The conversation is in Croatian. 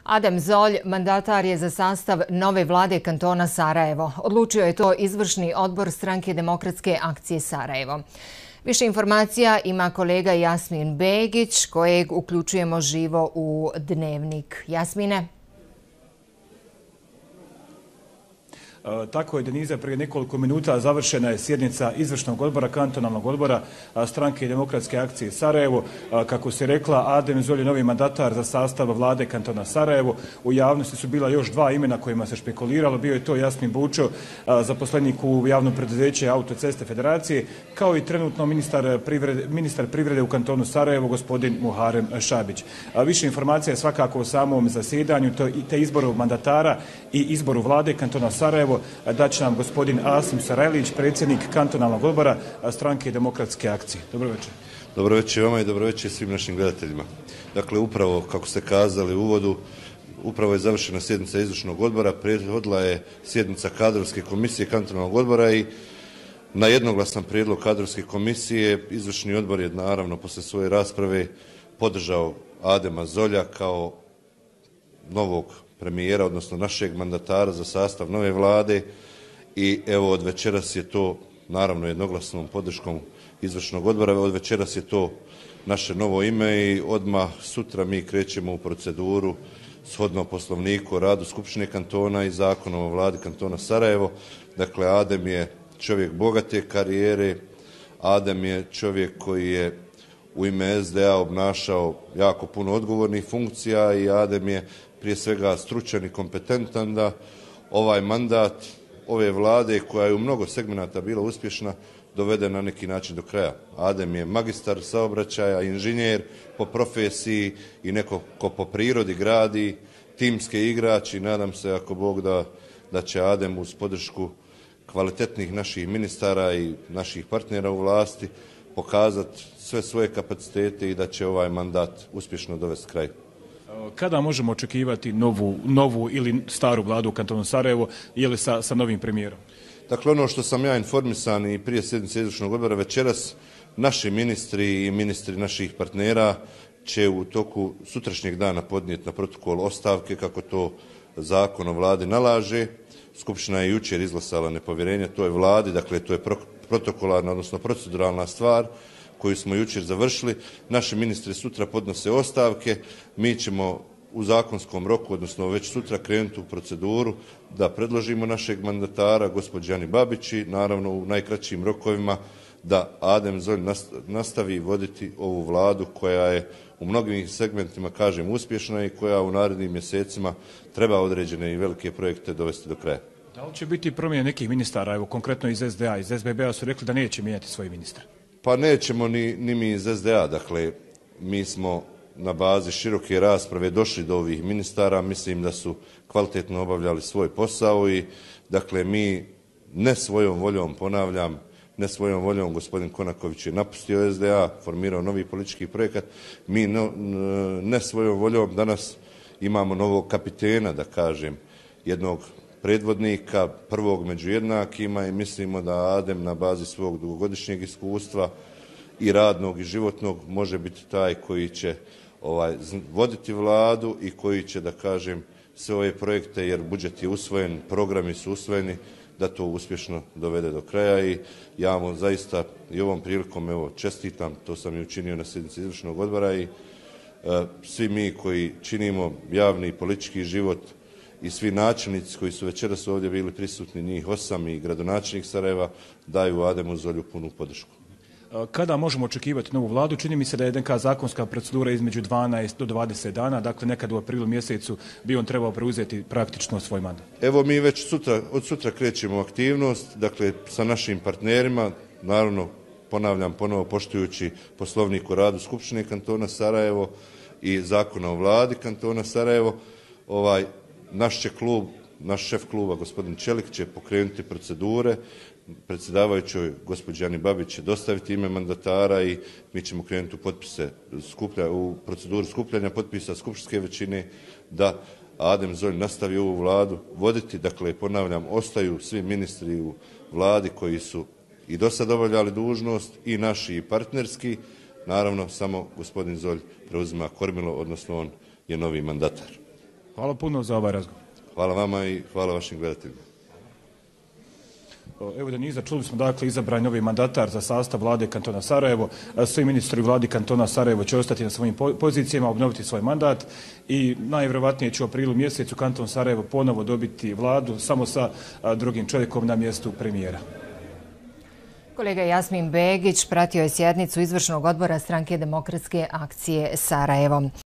Adem Zolj mandatar je za sastav nove vlade kantona Sarajevo. Odlučio je to izvršni odbor Stranke demokratske akcije Sarajevo. Više informacija ima kolega Jasmin Begić, kojeg uključujemo živo u Dnevnik. Jasmine? Tako je, Deniza, prije nekoliko minuta završena je sjednica izvršnog odbora, kantonalnog odbora Stranke demokratske akcije Sarajevo. Kako se rekla, Adem Zolj je novi mandatar za sastav vlade kantona Sarajevo. U javnosti su bila još dva imena kojima se špekuliralo. Bio je to Jasmin Bučo, zaposlenik u javnom preduzeće Autoceste Federacije, kao i trenutno ministar privrede u kantonu Sarajevo, gospodin Muharem Šabić. Više informacija je svakako o samom zasjedanju, te izboru mandatara i izboru vlade kantona Sarajevo daće nam gospodin Asim Sarajlić, predsjednik kantonalnog odbora Stranke demokratske akcije. Dobro večer. Dobro večer vama i dobro večer svim našim gledateljima. Dakle, upravo, kako ste kazali u uvodu, upravo je završena sjednica izvršnog odbora, prethodila je sjednica kadrovske komisije kantonalnog odbora i na jednoglasan prijedlog kadrovske komisije izvršni odbor je naravno poslije svoje rasprave podržao Adema Zolja kao novog premijera, odnosno našeg mandatara za sastav nove vlade i evo od večeras je to, naravno jednoglasnom podrškom izvršnog odbora, od večeras je to naše novo ime i odmah sutra mi krećemo u proceduru shodno Poslovniku o radu Skupštine kantona i Zakonom o vladi kantona Sarajevo. Dakle, Adem je čovjek bogate karijere, Adem je čovjek koji je u ime SDA obnašao jako puno odgovornih funkcija i Adem je prije svega stručan i kompetentan da ovaj mandat ove vlade, koja je u mnogo segmenata bila uspješna, dovede na neki način do kraja. Adem je magistar saobraćaja, inženjer po profesiji i neko ko po prirodi gradi, timski igrač i nadam se, ako Bog da će Adem uz podršku kvalitetnih naših ministara i naših partnera u vlasti pokazati sve svoje kapacitete i da će ovaj mandat uspješno dovesti kraj. Kada možemo očekivati novu ili staru vladu u kantonu Sarajevo ili sa novim premijerom? Dakle, ono što sam ja informisan i prije sjednice izvršnog odbora večeras, naši ministri i ministri naših partnera će u toku sutrašnjeg dana podnijeti na protokol ostavke kako to Zakon o vladi nalaže. Skupština je jučer izglasala nepovjerenje toj vladi, dakle to je protokolarna, odnosno proceduralna stvar koju smo jučer završili. Naši ministri sutra podnose ostavke, mi ćemo u zakonskom roku, odnosno već sutra krenuti u proceduru da predložimo našeg mandatara, gospođi Ani Babić i naravno u najkraćim rokovima da Adem Zolj nastavi voditi ovu vladu koja je u mnogim segmentima, kažem, uspješna i koja u narednim mjesecima treba određene i velike projekte dovesti do kraja. Da li će biti promjene nekih ministara, evo konkretno iz SDA, iz SBB-a su rekli da neće mijenjati svoje ministre? Pa nećemo ni mi iz SDA, dakle mi smo na bazi široke rasprave došli do ovih ministara, mislim da su kvalitetno obavljali svoj posao i dakle mi ne svojom voljom, ponavljam, ne svojom voljom, gospodin Konaković je napustio SDA, formirao novi politički projekat, mi ne svojom voljom danas imamo novog kapitena, da kažem, jednog predvodnika, prvog među jednakima i mislimo da Adem na bazi svog dugogodišnjeg iskustva i radnog i životnog može biti taj koji će voditi vladu i koji će, da kažem, sve ove projekte, jer budžet je usvojen, programi su usvojeni, da to uspješno dovede do kraja i ja mu zaista i ovom prilikom čestitam, to sam i učinio na sjednici izvršnog odbora i svi mi koji činimo javni i politički život i svi načelnici koji su večeras ovdje bili prisutni, njih 8 i gradonačelnik Sarajeva, daju Ademu Zolju punu podršku. Kada možemo očekivati novu vladu? Čini mi se da je neka zakonska procedura između 12 do 20 dana, dakle nekad u aprilu mjesecu bi on trebao preuzeti praktično svoj mandat. Evo mi već od sutra krećemo aktivnost, dakle sa našim partnerima, naravno ponavljam ponovo poštujući Poslovnik o radu Skupštine kantona Sarajevo i Zakona o vladi kantona Sarajevo, naš šef kluba, gospodin Čelik, će pokrenuti procedure, predsjedavajućoj gospođi Ani Babić će dostaviti ime mandatara i mi ćemo krenuti u proceduru skupljanja potpisa skupštinske većine da Adem Zolj nastavi ovu vladu voditi. Dakle, ponavljam, ostaju svi ministri u vladi koji su i do sad obavljali dužnost i naši i partnerski. Naravno, samo gospodin Zolj preuzima kormilo, odnosno on je novi mandatar. Hvala puno za ovaj razgovor. Hvala vama i hvala vašim gledateljima. Evo Deniza, čuli smo dakle izabran novi mandatar za sastav vlade kantona Sarajevo. Svi ministri vladi kantona Sarajevo će ostati na svojim pozicijama, obnoviti svoj mandat i najvjerovatnije će u aprilu mjesecu kanton Sarajevo ponovo dobiti vladu samo sa drugim čovjekom na mjestu premijera. Kolega Jasmin Begić pratio je sjednicu izvršnog odbora Stranke demokratske akcije Sarajevo.